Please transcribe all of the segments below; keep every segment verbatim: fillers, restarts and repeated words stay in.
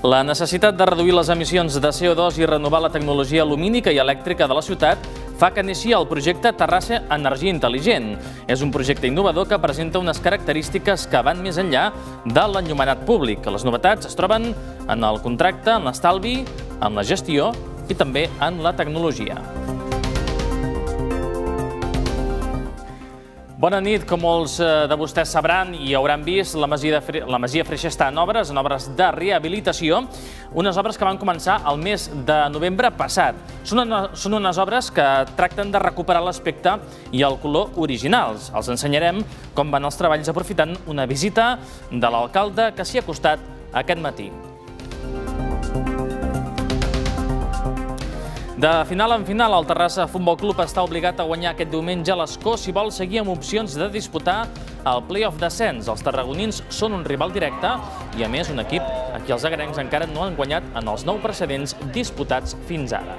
La necessitat de reduir les emissions de C O dos i renovar la tecnologia lumínica i elèctrica de la ciutat fa que neixi el projecte Terrassa Energia Intel·ligent. És un projecte innovador que presenta unes característiques que van més enllà de l'enllumenat públic. Les novetats es troben en el contracte, en l'estalvi, en la gestió i també en la tecnologia. Bona nit. Com molts de vostès sabran i hauran vist, la Masia Freixa està en obres, en obres de rehabilitació, unes obres que van començar el mes de novembre passat. Són unes obres que tracten de recuperar l'aspecte i el color originals. Els ensenyarem com van els treballs aprofitant una visita de l'alcalde que s'hi ha acostat aquest matí. De final en final, el Terrassa Futbol Club està obligat a guanyar aquest diumenge a l'Escó si vol seguir amb opcions de disputar el play-off d'ascens. Els tarragonins són un rival directe i, a més, un equip a qui els agrencs encara no han guanyat en els nou precedents disputats fins ara.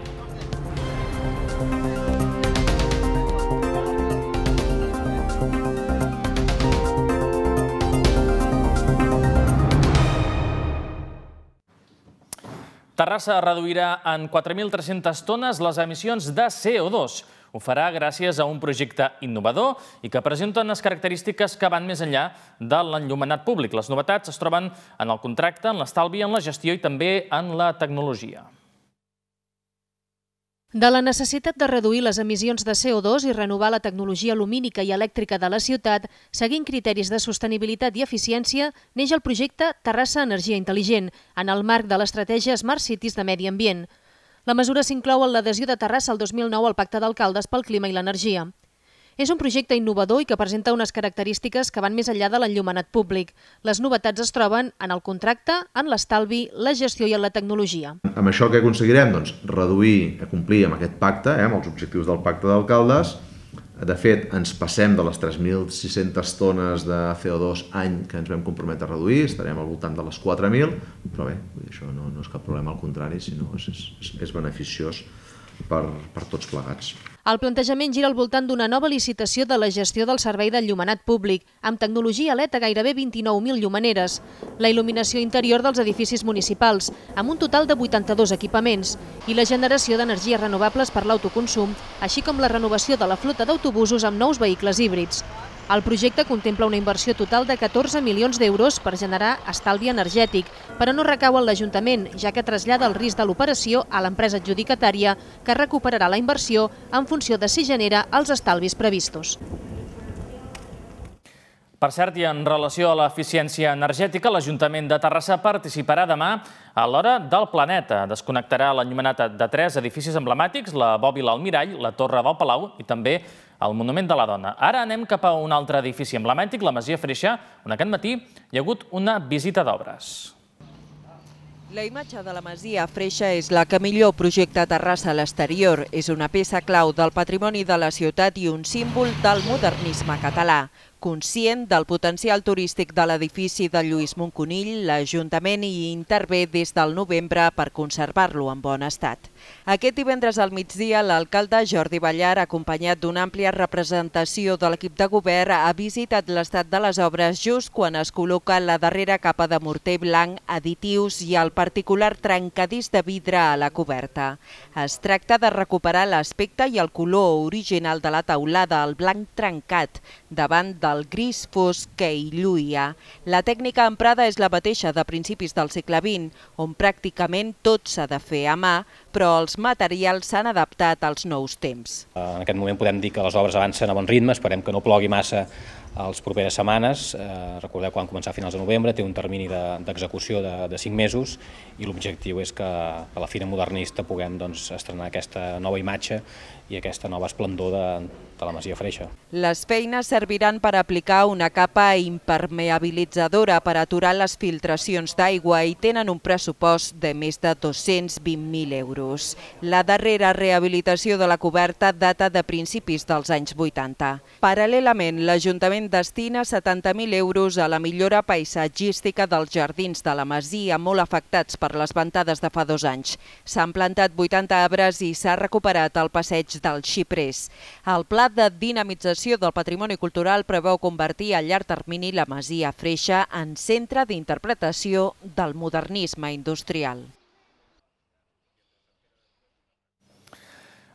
Terrassa reduirà en quatre mil tres-centes tones les emissions de C O dos. Ho farà gràcies a un projecte innovador i que presenta unes característiques que van més enllà de l'enllumenat públic. Les novetats es troben en el contracte, en l'estalvi, en la gestió i també en la tecnologia. De la necessitat de reduir les emissions de C O dos i renovar la tecnologia lumínica i elèctrica de la ciutat, seguint criteris de sostenibilitat i eficiència, neix el projecte Terrassa Energia Intel·ligent, en el marc de l'estratègia Smart Cities de Medi Ambient. La mesura s'inclou en l'adhesió de Terrassa el dos mil nou al Pacte d'Alcaldes pel Clima i l'Energia. És un projecte innovador i que presenta unes característiques que van més enllà de l'enllumenat públic. Les novetats es troben en el contracte, en l'estalvi, la gestió i en la tecnologia. Amb això què aconseguirem? Doncs reduir, complir amb aquest pacte, amb els objectius del Pacte d'Alcaldes. De fet, ens passem de les tres mil sis-centes tones de C O dos any que ens vam comprometre a reduir, estarem al voltant de les quatre mil, però bé, això no és cap problema, al contrari, sinó és beneficiós per tots plegats. El plantejament gira al voltant d'una nova licitació de la gestió del servei d'enllumenat públic, amb tecnologia L E D a gairebé vint-i-nou mil llumeneres, la il·luminació interior dels edificis municipals, amb un total de vuitanta-dos equipaments, i la generació d'energies renovables per l'autoconsum, així com la renovació de la flota d'autobusos amb nous vehicles híbrids. El projecte contempla una inversió total de catorze milions d'euros per generar estalvi energètic, però no recau en l'Ajuntament, ja que trasllada el risc de l'operació a l'empresa adjudicatària, que recuperarà la inversió en funció de si genera els estalvis previstos. Per cert, i en relació a l'eficiència energètica, l'Ajuntament de Terrassa participarà demà a l'Hora del Planeta. Desconnectarà l'enllumenat de tres edificis emblemàtics, la Bòbila al Mirall, la Torre del Palau i també el Monument de la Dona. Ara anem cap a un altre edifici emblemàtic, la Masia Freixa, on aquest matí hi ha hagut una visita d'obres. La imatge de la Masia Freixa és la que millor projecta Terrassa a l'exterior. És una peça clau del patrimoni de la ciutat i un símbol del modernisme català. Conscient del potencial turístic de l'edifici de Lluís Monconill, l'Ajuntament hi intervé des del novembre per conservar-lo en bon estat. Aquest divendres al migdia, l'alcalde Jordi Ballar, acompanyat d'una àmplia representació de l'equip de govern, ha visitat l'estat de les obres just quan es col·loca la darrera capa de morter blanc, additius i el particular trencadís de vidre a la coberta. Es tracta de recuperar l'aspecte i el color original de la teulada, el blanc trencat, davant de el gris fosc que hi lluïa. La tècnica emprada és la mateixa de principis del segle vint, on pràcticament tot s'ha de fer a mà, però els materials s'han adaptat als nous temps. En aquest moment podem dir que les obres avancen a bon ritme, esperem que no plogui massa a les properes setmanes. Recordeu que van començar a finals de novembre, té un termini d'execució de cinc mesos i l'objectiu és que a la Fira Modernista puguem estrenar aquesta nova imatge i aquesta nova esplendor de la Masia Freixa. Les feines serviran per aplicar una capa impermeabilitzadora per aturar les filtracions d'aigua i tenen un pressupost de més de dos-cents vint mil euros. La darrera rehabilitació de la coberta data de principis dels anys vuitanta. Paral·lelament, l'Ajuntament destina setanta mil euros a la millora paisatgística dels jardins de la Masia, molt afectats per les ventades de fa dos anys. S'han plantat vuitanta arbres i s'ha recuperat el passeig dels xiprers. El pla de dinamització del patrimoni cultural preveu convertir a llarg termini la Masia Freixa en centre d'interpretació del modernisme industrial.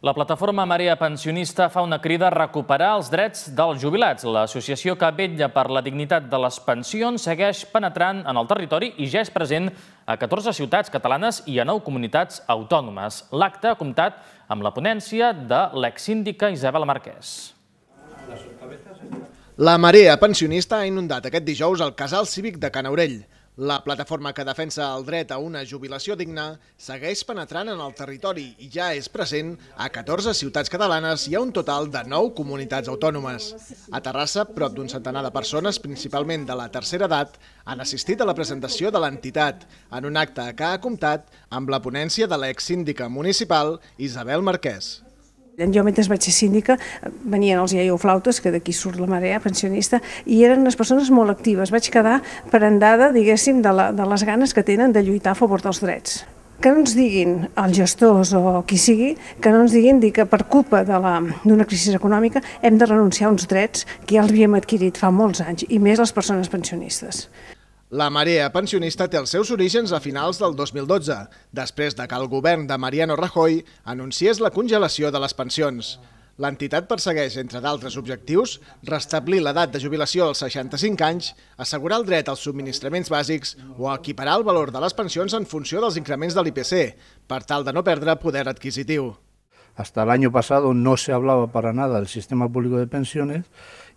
La plataforma Marea Pensionista fa una crida a recuperar els drets dels jubilats. L'associació que vetlla per la dignitat de les pensions segueix penetrant en el territori i ja és present a catorze ciutats catalanes i a nou comunitats autònomes. L'acte ha comptat amb la ponència de l'exsíndica Isabel Marquès. La Marea Pensionista ha inundat aquest dijous el casal cívic de Can Aurell. La plataforma que defensa el dret a una jubilació digna segueix penetrant en el territori i ja és present a catorze ciutats catalanes i a un total de nou comunitats autònomes. A Terrassa, prop d'un centenar de persones, principalment de la tercera edat, han assistit a la presentació de l'entitat, en un acte que ha comptat amb la ponència de l'exsíndica municipal Isabel Marquès. Jo, mentre vaig ser síndica, venien els iaioflautes, que d'aquí surt la Marea Pensionista, i eren unes persones molt actives. Vaig quedar prendada, diguéssim, de, la, de les ganes que tenen de lluitar a favor dels drets. Que no ens diguin els gestors o qui sigui, que no ens diguin que per culpa d'una crisi econòmica hem de renunciar a uns drets que ja els havíem adquirit fa molts anys, i més les persones pensionistes. La Marea Pensionista té els seus orígens a finals del dos mil dotze, després de que el govern de Mariano Rajoy anunciés la congelació de les pensions. L'entitat persegueix, entre d'altres objectius, restablir l'edat de jubilació als seixanta-cinc anys, assegurar el dret als subministraments bàsics o equiparar el valor de les pensions en funció dels increments de l'I P C, per tal de no perdre poder adquisitiu. Hasta el año pasado no se hablaba para nada del sistema público de pensiones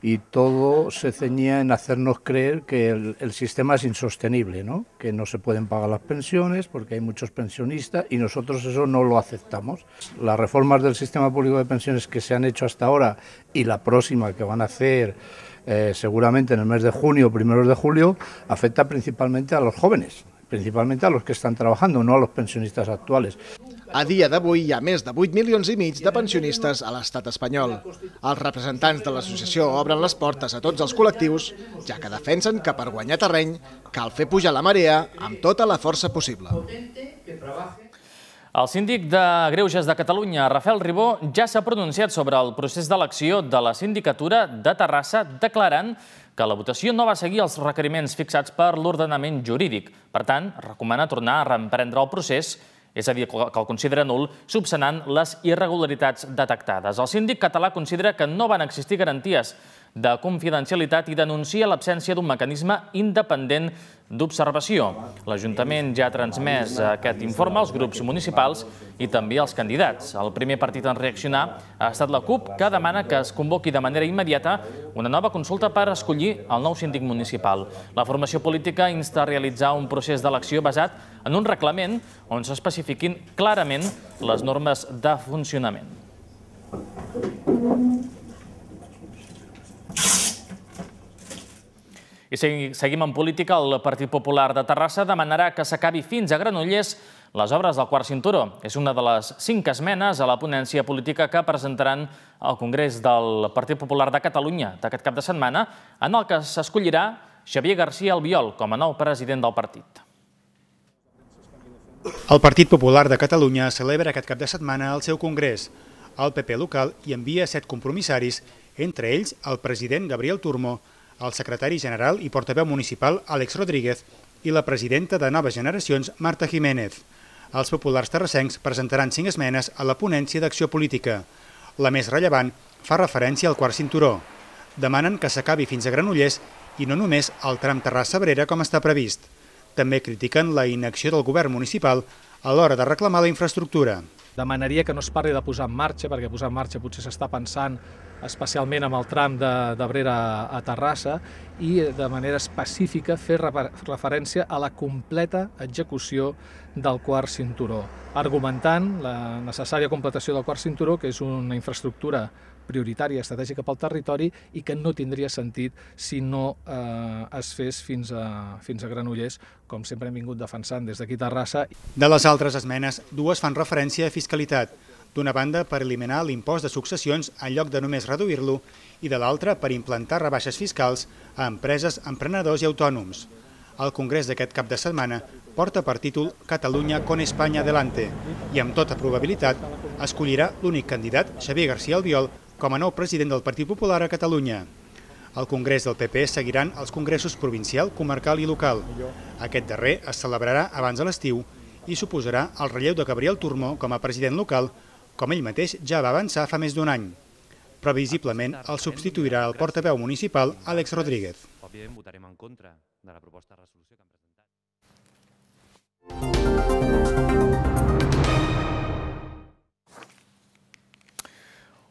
y todo se ceñía en hacernos creer que el, el sistema es insostenible, ¿no? Que no se pueden pagar las pensiones porque hay muchos pensionistas y nosotros eso no lo aceptamos. Las reformas del sistema público de pensiones que se han hecho hasta ahora y la próxima que van a hacer eh, seguramente en el mes de junio o primeros de julio afecta principalmente a los jóvenes, principalmente a los que están trabajando, no a los pensionistas actuales. A dia d'avui hi ha més de vuit milions i mig de pensionistes a l'estat espanyol. Els representants de l'associació obren les portes a tots els col·lectius, ja que defensen que per guanyar terreny cal fer pujar la marea amb tota la força possible. El síndic de Greuges de Catalunya, Rafael Ribó, ja s'ha pronunciat sobre el procés d'elecció de la sindicatura de Terrassa, declarant que la votació no va seguir els requeriments fixats per l'ordenament jurídic. Per tant, recomana tornar a reemprendre el procés, és a dir, que el considera nul, subsanant les irregularitats detectades. El síndic català considera que no van existir garanties de confidencialitat i denuncia l'absència d'un mecanisme independent d'observació. L'Ajuntament ja ha transmès aquest informe als grups municipals i també als candidats. El primer partit en reaccionar ha estat la CUP, que demana que es convoqui de manera immediata una nova consulta per escollir el nou síndic municipal. La formació política insta a realitzar un procés d'elecció basat en un reglament on s'especifiquin clarament les normes de funcionament. I seguim en política. El Partit Popular de Terrassa demanarà que s'acabi fins a Granollers les obres del quart cinturó. És una de les cinc esmenes a la ponència política que presentaran al Congrés del Partit Popular de Catalunya d'aquest cap de setmana, en el que s'escollirà Xavier García Albiol com a nou president del partit. El Partit Popular de Catalunya celebra aquest cap de setmana el seu congrés. El P P local hi envia set compromissaris, entre ells el president Gabriel Turmo, el secretari general i portaveu municipal Àlex Rodríguez i la presidenta de Noves Generacions Marta Jiménez. Els populars terrassencs presentaran cinc esmenes a la ponència d'acció política. La més rellevant fa referència al quart cinturó. Demanen que s'acabi fins a Granollers i no només al tram Terrassa-Abrera com està previst. També critiquen la inacció del govern municipal a l'hora de reclamar la infraestructura. Demanaria que no es parli de posar en marxa, perquè posar en marxa potser s'està pensant especialment amb el tram d'Abrera a Terrassa i de manera específica fer referència a la completa execució del quart cinturó, argumentant la necessària completació del quart cinturó, que és una infraestructura prioritària estratègica pel territori i que no tindria sentit si no eh, es fes fins a, fins a Granollers, com sempre hem vingut defensant des d'aquí a Terrassa. De les altres esmenes, dues fan referència a fiscalitat. D'una banda, per eliminar l'impost de successions en lloc de només reduir-lo, i de l'altra, per implantar rebaixes fiscals a empreses, emprenedors i autònoms. El congrés d'aquest cap de setmana porta per títol Catalunya con España adelante i amb tota probabilitat escollirà l'únic candidat, Xavier García Albiol, com a nou president del Partit Popular a Catalunya. Al Congrés del P P seguiran els congressos provincial, comarcal i local. Aquest darrer es celebrarà abans de l'estiu i suposarà el relleu de Gabriel Turmó com a president local, com ell mateix ja va avançar fa més d'un any. Previsiblement el substituirà el portaveu municipal Àlex Rodríguez. Òbviament votarem en contra de la proposta de resolució que han presentat.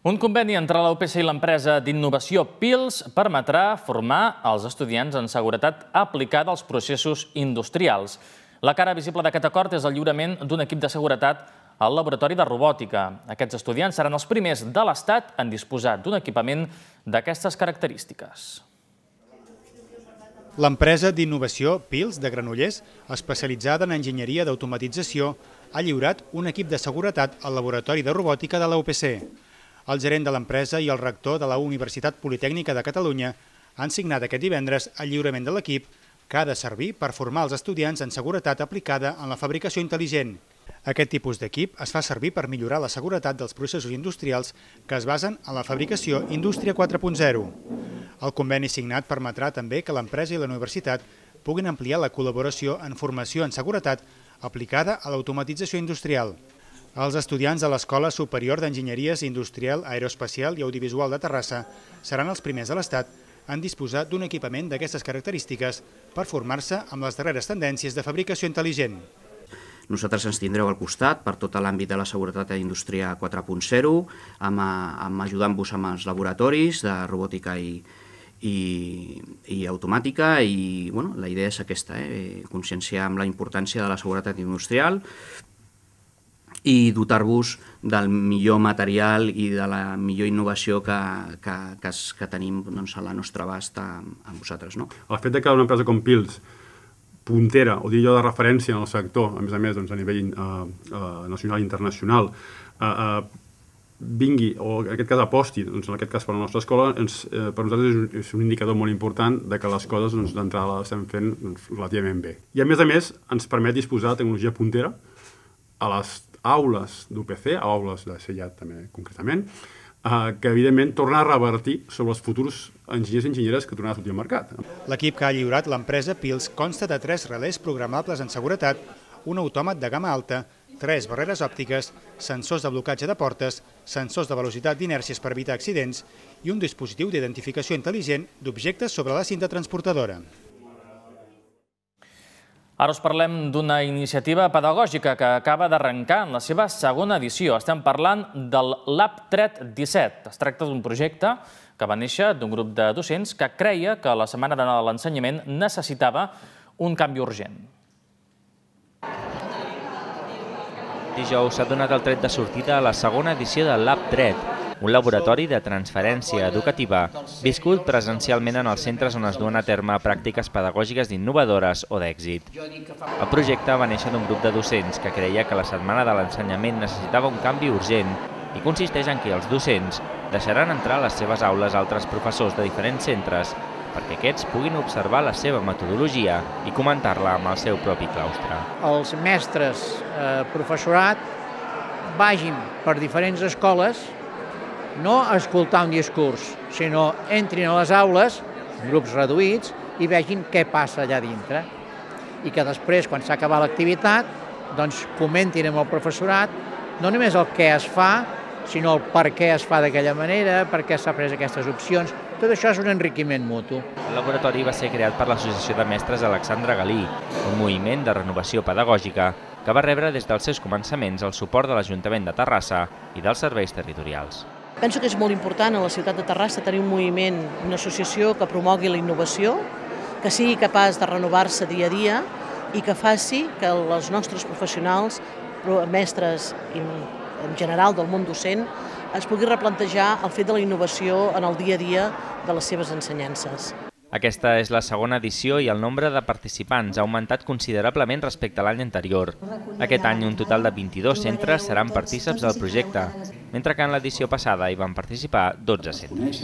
Un conveni entre la U P C i l'empresa d'innovació Pils permetrà formar els estudiants en seguretat aplicada als processos industrials. La cara visible d'aquest acord és el lliurament d'un equip de seguretat al laboratori de robòtica. Aquests estudiants seran els primers de l'Estat en disposar d'un equipament d'aquestes característiques. L'empresa d'innovació Pils de Granollers, especialitzada en enginyeria d'automatització, ha lliurat un equip de seguretat al laboratori de robòtica de la U P C. El gerent de l'empresa i el rector de la Universitat Politècnica de Catalunya han signat aquest divendres el lliurament de l'equip que ha de servir per formar els estudiants en seguretat aplicada en la fabricació intel·ligent. Aquest tipus d'equip es fa servir per millorar la seguretat dels processos industrials que es basen en la fabricació Indústria quatre punt zero. El conveni signat permetrà també que l'empresa i la universitat puguin ampliar la col·laboració en formació en seguretat aplicada a l'automatització industrial. Els estudiants de l'Escola Superior d'Enginyeries Industrial, Aeroespacial i Audiovisual de Terrassa seran els primers de l'Estat en disposar d'un equipament d'aquestes característiques per formar-se amb les darreres tendències de fabricació intel·ligent. Nosaltres ens tindreu al costat per tot l'àmbit de la seguretat a Indústria quatre punt zero, ajudant-vos amb els laboratoris de robòtica i, i, i automàtica i bueno, la idea és aquesta, eh? conscienciar amb la importància de la seguretat industrial i dotar-vos del millor material i de la millor innovació que, que, que, que tenim doncs, a la nostra abast amb vosaltres. No? El fet que una empresa com Pils, puntera, o dir jo de referència en el sector, a més a més doncs, a nivell eh, eh, nacional i internacional, eh, eh, vingui, o en aquest cas aposti, doncs, en aquest cas per la nostra escola, ens, eh, per nosaltres és un, és un indicador molt important de que les coses doncs, d'entrada les estem fent doncs, relativament bé. I a més a més ens permet disposar de tecnologia puntera a les aules d'U P C, aules de C I A T també concretament, eh, que evidentment torna a revertir sobre els futurs enginyers i enginyeres que tornaran a sortir al mercat. L'equip que ha lliurat l'empresa Pils consta de tres relés programables en seguretat, un autòmat de gamma alta, tres barreres òptiques, sensors de blocatge de portes, sensors de velocitat d'inèrcies per evitar accidents i un dispositiu d'identificació intel·ligent d'objectes sobre la cinta transportadora. Ara us parlem d'una iniciativa pedagògica que acaba d'arrencar en la seva segona edició. Estem parlant del Lab Tret disset. Es tracta d'un projecte que va néixer d'un grup de docents que creia que la Setmana de l'Ensenyament necessitava un canvi urgent. Dijous s'ha donat el tret de sortida a la segona edició del Lab Tret, un laboratori de transferència educativa viscut presencialment en els centres on es duen a terme pràctiques pedagògiques innovadores o d'èxit. El projecte va néixer d'un grup de docents que creia que la Setmana de l'Ensenyament necessitava un canvi urgent i consisteix en que els docents deixaran entrar a les seves aules altres professors de diferents centres perquè aquests puguin observar la seva metodologia i comentar-la amb el seu propi claustre. Els mestres, eh, professorat, vagin per diferents escoles no a escoltar un discurs, sinó entrin a les aules, en grups reduïts, i vegin què passa allà dintre. I que després, quan s'ha acabat l'activitat, doncs comentin amb el professorat no només el què es fa, sinó el per què es fa d'aquella manera, per què s'ha pres aquestes opcions. Tot això és un enriquiment mutu. El laboratori va ser creat per l'Associació de Mestres Alexandre Galí, un moviment de renovació pedagògica que va rebre des dels seus començaments el suport de l'Ajuntament de Terrassa i dels serveis territorials. Penso que és molt important a la ciutat de Terrassa tenir un moviment, una associació que promogui la innovació, que sigui capaç de renovar-se dia a dia i que faci que els nostres professionals, mestres i en general del món docent, es pugui replantejar el fet de la innovació en el dia a dia de les seves ensenyances. Aquesta és la segona edició i el nombre de participants ha augmentat considerablement respecte a l'any anterior. Aquest any un total de vint-i-dos centres seran partíceps del projecte, mentre que en l'edició passada hi van participar dotze centres.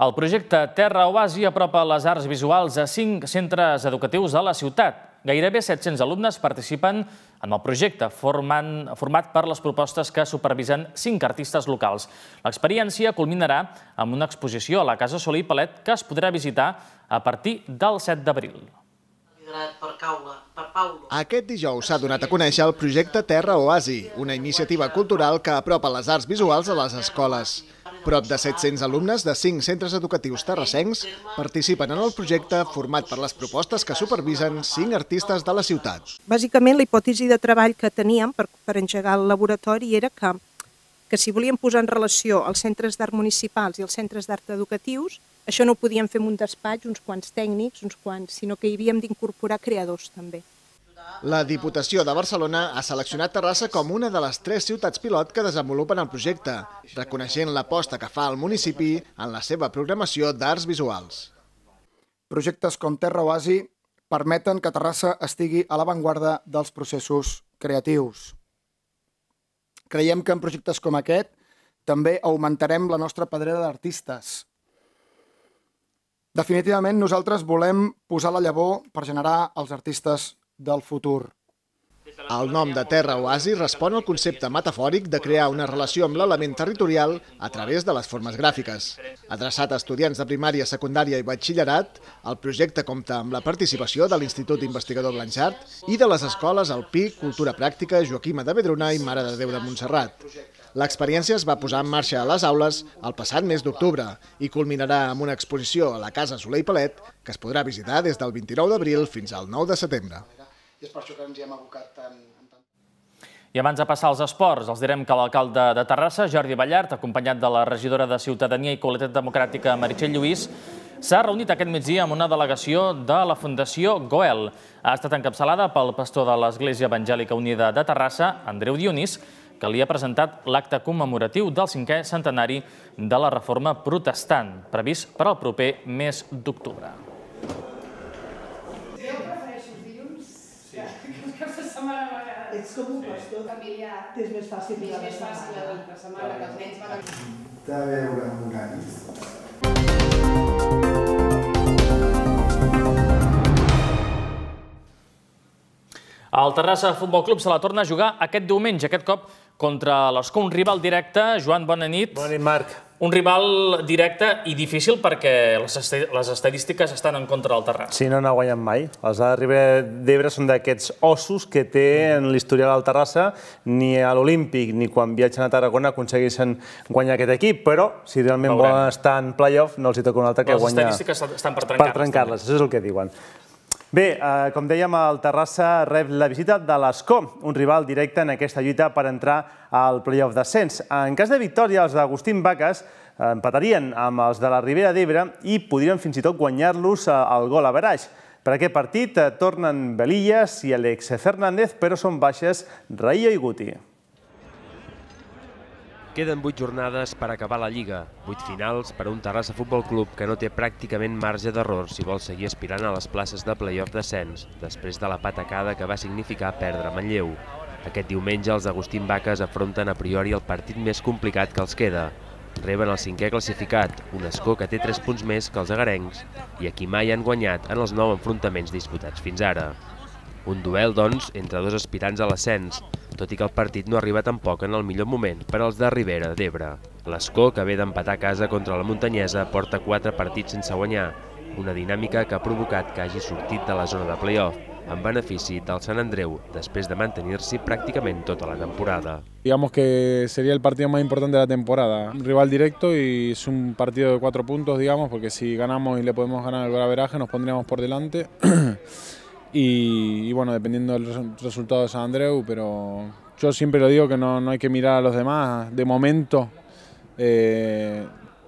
El projecte Terra Oasi apropa les arts visuals a cinc centres educatius de la ciutat. Gairebé set-cents alumnes participen en el projecte, format per les propostes que supervisen cinc artistes locals. L'experiència culminarà amb una exposició a la Casa Soler i Palet que es podrà visitar a partir del set d'abril. Aquest dijous s'ha donat a conèixer el projecte Terra Oasi, una iniciativa cultural que apropa les arts visuals a les escoles. Prop de set-cents alumnes de cinc centres educatius terrassencs participen en el projecte format per les propostes que supervisen cinc artistes de la ciutat. Bàsicament, la hipòtesi de treball que teníem per, per engegar el laboratori era que, que si volíem posar en relació els centres d'art municipals i els centres d'art educatius, això no ho podíem fer en un despatx, uns quants tècnics, uns quants, sinó que hi havíem d'incorporar creadors també. La Diputació de Barcelona ha seleccionat Terrassa com una de les tres ciutats pilot que desenvolupen el projecte, reconeixent l'aposta que fa el municipi en la seva programació d'arts visuals. Projectes com Terra Oasi permeten que Terrassa estigui a l'avantguarda dels processos creatius. Creiem que en projectes com aquest també augmentarem la nostra pedrera d'artistes. Definitivament, nosaltres volem posar la llavor per generar els artistes del futur. El nom de Terra Oasi respon al concepte metafòric de crear una relació amb l'element territorial a través de les formes gràfiques. Adreçat a estudiants de primària, secundària i batxillerat, el projecte compta amb la participació de l'Institut Investigador Blanchard i de les escoles Alpí, Cultura Pràctica, Joaquima de Vedruna i Mare de Déu de Montserrat. L'experiència es va posar en marxa a les aules el passat mes d'octubre i culminarà amb una exposició a la Casa Soler i Palet que es podrà visitar des del vint-i-nou d'abril fins al nou de setembre. I és per això que ens hi hem abocat tant. I abans de passar als esports, els direm que l'alcalde de Terrassa, Jordi Ballart, acompanyat de la regidora de Ciutadania i Qualitat Democràtica, Meritxell Lluís, s'ha reunit aquest migdia amb una delegació de la Fundació Goel. Ha estat encapçalada pel pastor de l'Església Evangèlica Unida de Terrassa, Andreu Dionís, que li ha presentat l'acte commemoratiu del cinquè centenari de la Reforma Protestant, previst per al proper mes d'octubre. Ets com un pastor familiar. És més fàcil la setmana que els nens van a... De veure horaris. El Terrassa Futbol Club se la torna a jugar aquest diumenge, aquest cop contra l'Escó, un rival directe. Joan, bona nit. Bona nit, Marc. Un rival directe i difícil perquè les estadístiques estan en contra del Terrassa. Sí, no n'ha guanyat mai. Els de la Ribera d'Ebre són d'aquests ossos que té en l'historial del Terrassa. Ni a l'Olímpic ni quan viatgen a Tarragona aconsegueixen guanyar aquest equip, però si realment volen estar en play-off no els hi toca un altre que guanyar. Les estadístiques estan per trencar-les. Per trencar-les, això és el que diuen. Bé, com dèiem, el Terrassa rep la visita de l'Escó, un rival directe en aquesta lluita per entrar al play-off d'ascens. En cas de victòria, els d'Agustín Vaques empatarien amb els de la Ribera d'Ebre i podrien fins i tot guanyar-los al gol average. Per aquest partit tornen Belillas i Alex Fernández, però són baixes Raillo i Guti. Queden vuit jornades per acabar la Lliga, vuit finals per a un Terrassa Futbol Club que no té pràcticament marge d'error si vol seguir aspirant a les places de play-off d'ascens, després de la patacada que va significar perdre Manlleu. Aquest diumenge els Agustín Vaques afronten a priori el partit més complicat que els queda. Reben el cinquè classificat, un Escó que té tres punts més que els agarencs i a qui mai han guanyat en els nou enfrontaments disputats fins ara. Un duel, doncs, entre dos aspirants a l'ascens, tot i que el partit no arriba tampoc en el millor moment per als de Ribera d'Ebre. L'Escó, que ve d'empatar a casa contra la Muntanyesa, porta quatre partits sense guanyar, una dinàmica que ha provocat que hagi sortit de la zona de play-off, en benefici del Sant Andreu, després de mantenir-s'hi pràcticament tota la temporada. Digamos que sería el partido más importante de la temporada. Un rival directo y es un partido de cuatro puntos, digamos, porque si ganamos y le podemos ganar el golaveraje nos pondríamos por delante. Y, y bueno, dependiendo del resultado de San Andreu, pero yo siempre lo digo que no, no hay que mirar a los demás. De momento, eh,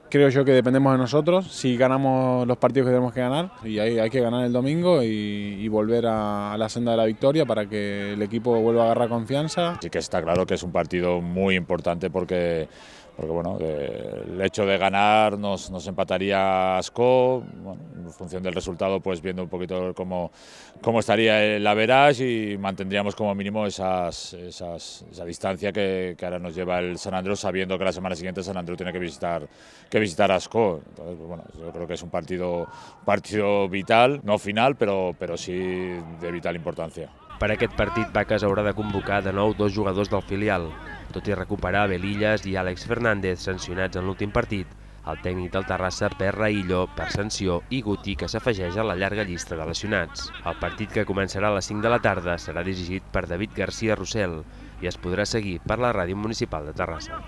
creo yo que dependemos de nosotros, si ganamos los partidos que tenemos que ganar, y hay, hay que ganar el domingo y, y volver a, a la senda de la victoria para que el equipo vuelva a agarrar confianza. Sí que está claro que es un partido muy importante porque... Porque bueno, el hecho de ganar nos, nos empataría a Ascó, bueno, en función del resultado, pues viendo un poquito cómo, cómo estaría el average y mantendríamos como mínimo esas, esas, esa distancia que, que ahora nos lleva el San Andreu, sabiendo que la semana siguiente San Andreu tiene que visitar, que visitar Ascó. Entonces, pues bueno, yo creo que es un partido, un partido vital, no final, pero, pero sí de vital importancia. Per aquest partit, Vaques haurà de convocar de nou dos jugadors del filial. Tot i recuperar Belillas i Àlex Fernández sancionats en l'últim partit, el tècnic del Terrassa perd Raillo per sanció i Guti, que s'afegeix a la llarga llista de lesionats. El partit, que començarà a les cinc de la tarda, serà dirigit per David García Rossell i es podrà seguir per la ràdio municipal de Terrassa.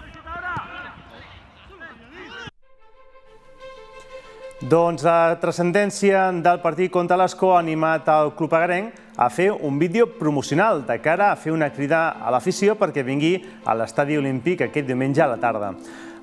Doncs la transcendència del partit contra l'Escó ha animat el club agarenc a fer un vídeo promocional de cara a fer una crida a l'afició perquè vingui a l'estadi olímpic aquest diumenge a la tarda.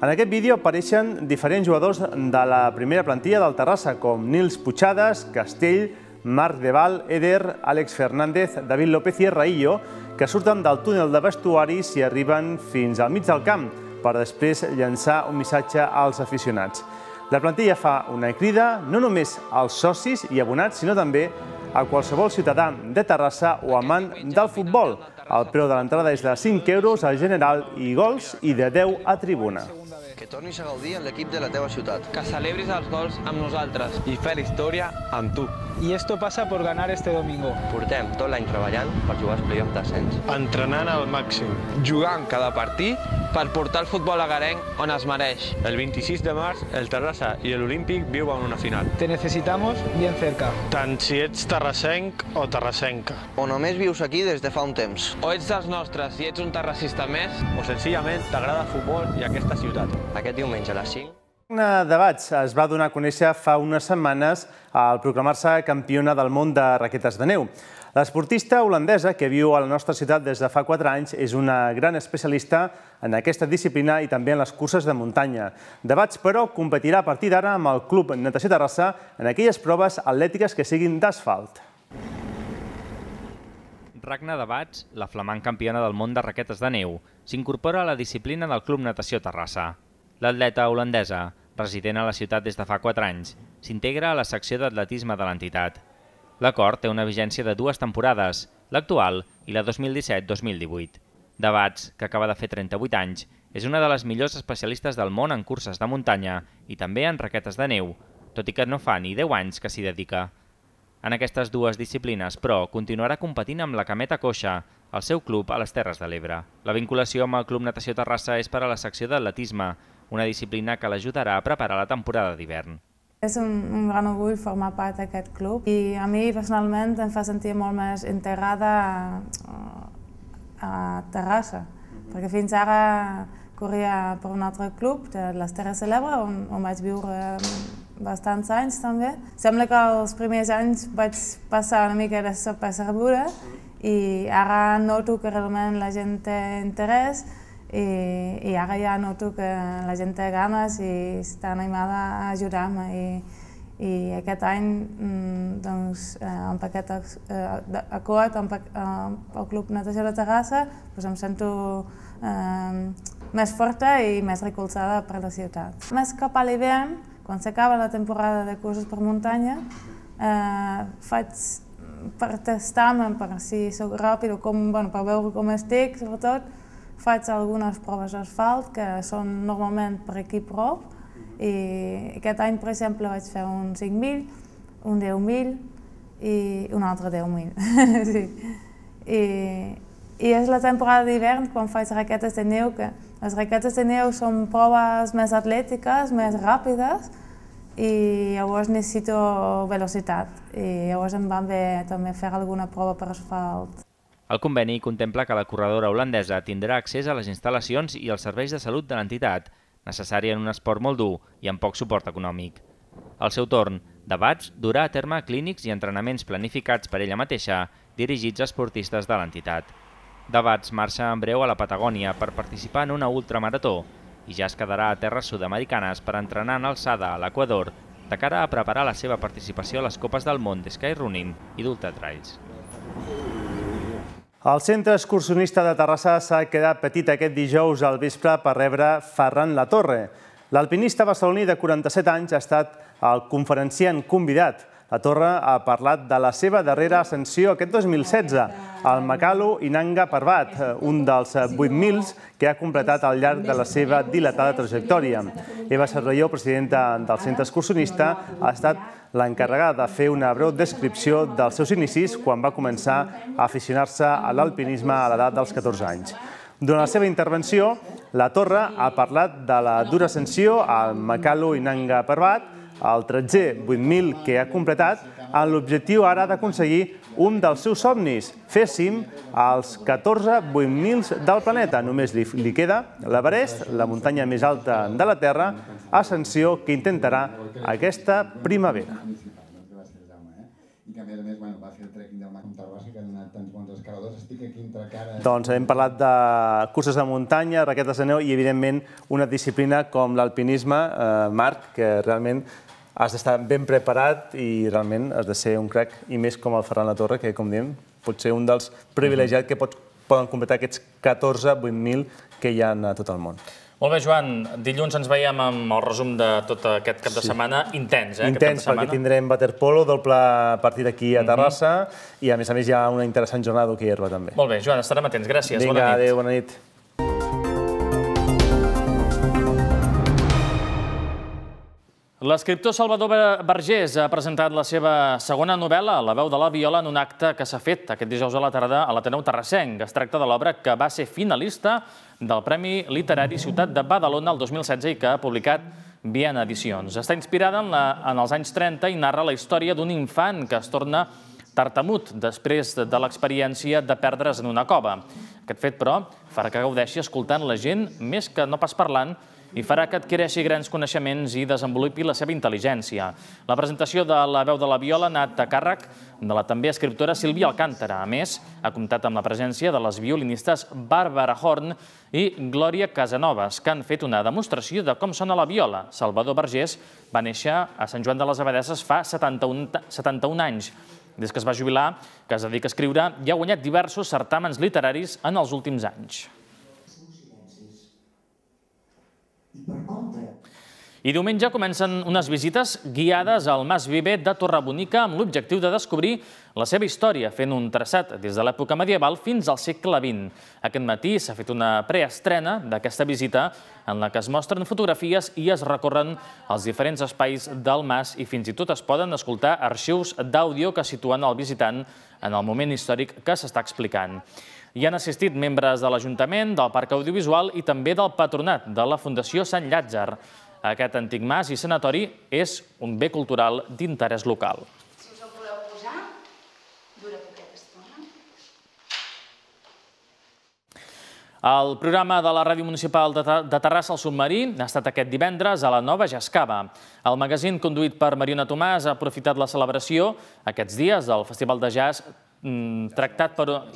En aquest vídeo apareixen diferents jugadors de la primera plantilla del Terrassa, com Nils Puigades, Castell, Marc Deval, Eder, Àlex Fernández, David López i Raillo, que surten del túnel de vestuaris i arriben fins al mig del camp per després llançar un missatge als aficionats. La plantilla fa una crida no només als socis i abonats, sinó també a qualsevol ciutadà de Terrassa o amant del futbol. El preu de l'entrada és de cinc euros al general i gols i de deu a tribuna. Que tornis a gaudir en l'equip de la teva ciutat. Que celebris els gols amb nosaltres i fer la història amb tu. Y esto pasa por ganar este domingo. Portem tot l'any treballant per jugar als play-off d'ascens. Entrenant al màxim. Jugant cada partit per portar el futbol agarenc on es mereix. El vint-i-sis de març, el Terrassa i l'Olímpic viuen una final. Te necesitamos bien cerca. Tant si ets terrassenc o terrassenca. O només vius aquí des de fa un temps. O ets dels nostres i ets un terrassista més. O senzillament t'agrada el futbol i aquesta ciutat. Aquest diumenge a les cinc. Debats es va donar a conèixer fa unes setmanes al proclamar-se campiona del món de raquetes de neu. L'esportista holandesa, que viu a la nostra ciutat des de fa quatre anys, és una gran especialista en aquesta disciplina i també en les curses de muntanya. Debats, però, competirà a partir d'ara amb el Club Natació Terrassa en aquelles proves atlètiques que siguin d'asfalt. Ragna Debats, la flamant campiona del món de raquetes de neu, s'incorpora a la disciplina del Club Natació Terrassa. L'atleta holandesa, resident a la ciutat des de fa quatre anys, s'integra a la secció d'atletisme de l'entitat. L'acord té una vigència de dues temporades, l'actual i la dos mil disset dos mil divuit. Debats, que acaba de fer trenta-vuit anys, és una de les millors especialistes del món en curses de muntanya i també en raquetes de neu, tot i que no fa ni deu anys que s'hi dedica. En aquestes dues disciplines, però, continuarà competint amb la cameta coixa, al seu club a les Terres de l'Ebre. La vinculació amb el Club Natació Terrassa és per a la secció d'atletisme, una disciplina que l'ajudarà a preparar la temporada d'hivern. És un, un gran orgull formar part d'aquest club i a mi personalment em fa sentir molt més integrada a, a Terrassa, perquè fins ara corria per un altre club, de les Terres de l'Ebre, on, on vaig viure bastants anys també. Sembla que els primers anys vaig passar una mica de desapercebuda i ara noto que realment la gent té interès i, i ara ja noto que la gent té ganes i està animada a ajudar-me. I, i aquest any, doncs, amb aquest acord amb el Club Natació de Terrassa, doncs em sento eh, més forta i més recolzada per la ciutat. Més cap a l'hivern, quan s'acaba la temporada de curses per muntanya, eh, faig per testar-me, per si soc ràpid o com, bueno, per veure com estic, sobretot, faig algunes proves d'asfalt que són normalment per equip prop i aquest any, per exemple, vaig fer un cinc mil, un deu mil i un altre deu mil. Sí. I, I és la temporada d'hivern quan faig raquetes de neu, que les raquetes de neu són proves més atlètiques, més ràpides i llavors necessito velocitat i llavors em va bé també fer alguna prova per asfalt. El conveni contempla que la corredora holandesa tindrà accés a les instal·lacions i els serveis de salut de l'entitat, necessari en un esport molt dur i amb poc suport econòmic. Al seu torn, Debats durà a terme clínics i entrenaments planificats per ella mateixa, dirigits a esportistes de l'entitat. Debats marxa en breu a la Patagònia per participar en una ultramarató i ja es quedarà a terres sud-americanes per entrenar en alçada a l'Equador de cara a preparar la seva participació a les Copes del Món de Skyrunning i d'Ultratrails. El centre excursionista de Terrassa s'ha quedat petit aquest dijous al vespre per rebre Ferran Latorre. L'alpinista barceloní de quaranta-set anys ha estat el conferenciant convidat. La Torre ha parlat de la seva darrera ascensió aquest dos mil setze, el Makalu Inanga Parbat, un dels vuit mil que ha completat al llarg de la seva dilatada trajectòria. Eva Cervelló, presidenta del centre excursionista, ha estat l'encarregada de fer una breu descripció dels seus inicis quan va començar a aficionar-se a l'alpinisme a l'edat dels catorze anys. Durant la seva intervenció, la Torre ha parlat de la dura ascensió al Makalu Inanga Parbat, el tretzè vuit mil que ha completat, amb l'objectiu ara d'aconseguir un dels seus somnis, fer cim als catorze vuit mil del planeta. Només li queda l'Everest, la muntanya més alta de la Terra, ascensió que intentarà aquesta primavera. I que a més a més va fer el trekking del Macum Terrassa, que han anat tants bons escaladors. Estic aquí entre cara... Doncs hem parlat de curses de muntanya, raquetes de neu i, evidentment, una disciplina com l'alpinisme, Marc, que realment has d'estar ben preparat i realment has de ser un crac, i més com el Ferran Latorre, que, com diem, pot ser un dels privilegiats que poden completar aquests catorze vuit mil que hi ha a tot el món. Molt bé, Joan. Dilluns ens veiem amb el resum de tot aquest cap de setmana. Intens, eh? Intens, perquè tindrem waterpolo, doble partit aquí a Terrassa, i a més a més hi ha una interessant jornada d'hoquei herba també. Molt bé, Joan, estarem atents. Gràcies. Bona nit. Vinga, adéu, bona nit. L'escriptor Salvador Vergés ha presentat la seva segona novel·la, La veu de la viola, en un acte que s'ha fet aquest dijous a la tarda a l'Ateneu Terrassenc. Es tracta de l'obra que va ser finalista del Premi Literari Ciutat de Badalona el dos mil setze i que ha publicat Viena Edicions. Està inspirada en els anys trenta i narra la història d'un infant que es torna tartamut després de l'experiència de perdre's en una cova. Aquest fet, però, farà que gaudeixi escoltant la gent més que no pas parlant i farà que adquireixi grans coneixements i desenvolupi la seva intel·ligència. La presentació de La veu de la viola ha anat a càrrec de la també escriptora Sílvia Alcántara. A més, ha comptat amb la presència de les violinistes Bàrbara Horn i Glòria Casanovas, que han fet una demostració de com sona la viola. Salvador Vergés va néixer a Sant Joan de les Abadesses fa setanta-un anys. Des que es va jubilar, que es dedica a escriure, i ha guanyat diversos certàmens literaris en els últims anys. I diumenge comencen unes visites guiades al Mas Viver de Torrebonica amb l'objectiu de descobrir la seva història, fent un traçat des de l'època medieval fins al segle vint. Aquest matí s'ha fet una preestrena d'aquesta visita en la que es mostren fotografies i es recorren els diferents espais del mas i fins i tot es poden escoltar arxius d'àudio que situen el visitant en el moment històric que s'està explicant. Hi han assistit membres de l'Ajuntament, del Parc Audiovisual i també del Patronat de la Fundació Sant Llàtzer. Aquest antic mas i sanatori és un bé cultural d'interès local. Si us el voleu posar, dura poqueta estona. El programa de la Ràdio Municipal de Terrassa, El Submarí, ha estat aquest divendres a la Nova Jascava. El magazín conduït per Mariona Tomàs ha aprofitat la celebració aquests dies del Festival de Jazz i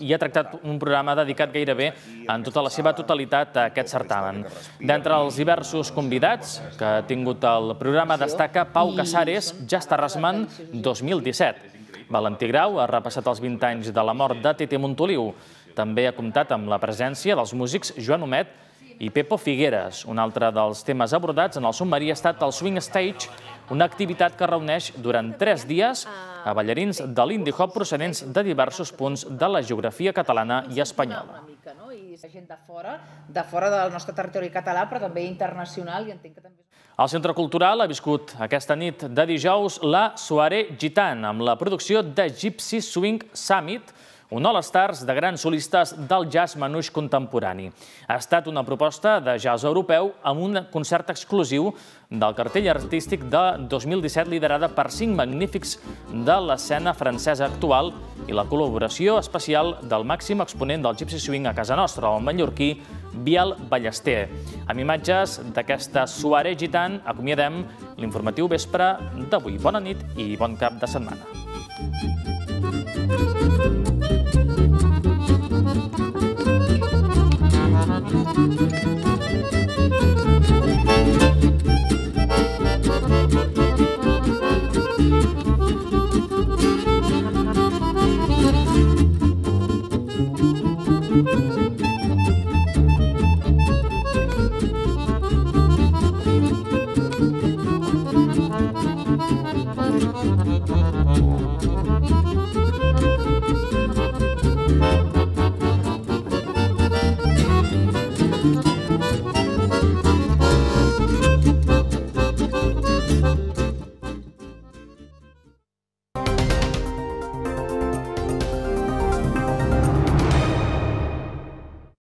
ha tractat un programa dedicat gairebé en tota la seva totalitat a aquest certamen. D'entre els diversos convidats que ha tingut el programa destaca Pau Casares, Jazz Terrassman dos mil disset. Valentí Grau ha repassat els vint anys de la mort de Tete Montoliu. També ha comptat amb la presència dels músics Joan Homet i Pepo Figueres. Un altre dels temes abordats en el submarí ha estat el Swing Stage, una activitat que reuneix durant tres dies a ballarins de l'indie hop procedents de diversos punts de la geografia catalana i espanyola. Gent de fora, de fora del nostre territori català, però també internacional. El Centre Cultural ha viscut aquesta nit de dijous la Soirée Gitane amb la producció de Gypsy Swing Summit, un all-stars de grans solistes del jazz manouche contemporani. Ha estat una proposta de jazz europeu amb un concert exclusiu del cartell artístic de dos mil disset liderada per cinc magnífics de l'escena francesa actual i la col·laboració especial del màxim exponent del Gypsy Swing a casa nostra, el mallorquí Biel Ballester. Amb imatges d'aquesta Soirée Gitane acomiadem l'informatiu vespre d'avui. Bona nit i bon cap de setmana. Thank you. Thank you.